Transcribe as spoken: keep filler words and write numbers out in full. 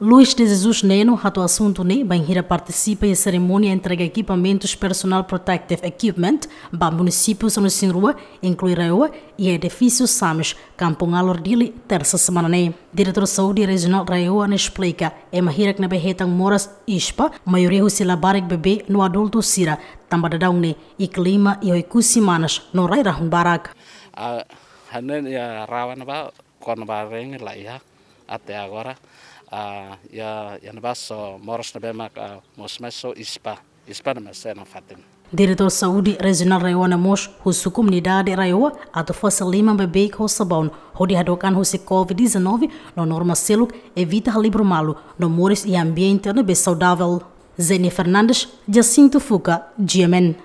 Luis de Jesus Neno hato'o asuntu ne'e bainhira partisipa iha serimónia entrega ekipamentus personal protective equipment ba munisípiu sanulu-resin-rua, inklui RAEOA, iha edifísiu SAMES, Kampung Alor, Dili, tersa semana ne'e. Diretór Saúde Rejionál RAEOA ne'e esplika, ema hirak ne'ebé hetan moras ISPA, maioria husi labarik bebé no adultu sira, tanba daudaun ne'e, iha klima iha Oekusi manas no rai rahun barak. Ah, hanesan iha RAEOA ne'ebá, kona-ba reng la iha até agora. Ah, iha, iha ne'ebá só moras ne'ebé mak, ah, mosu mai só ISPA. ISPA ne'e mak sei iha nafatin. Diretór Saúde Rejionál RAEOA ne'e mós husu komunidade RAEOA atu fase liman beibeik ho sabaun, hodi hadook an husi COVID dezanove, no norma seluk evita halibur malu no moris iha ambiente ne'ebé saudavel. Zeni Fernandes, Jacinto Fuca, G M N.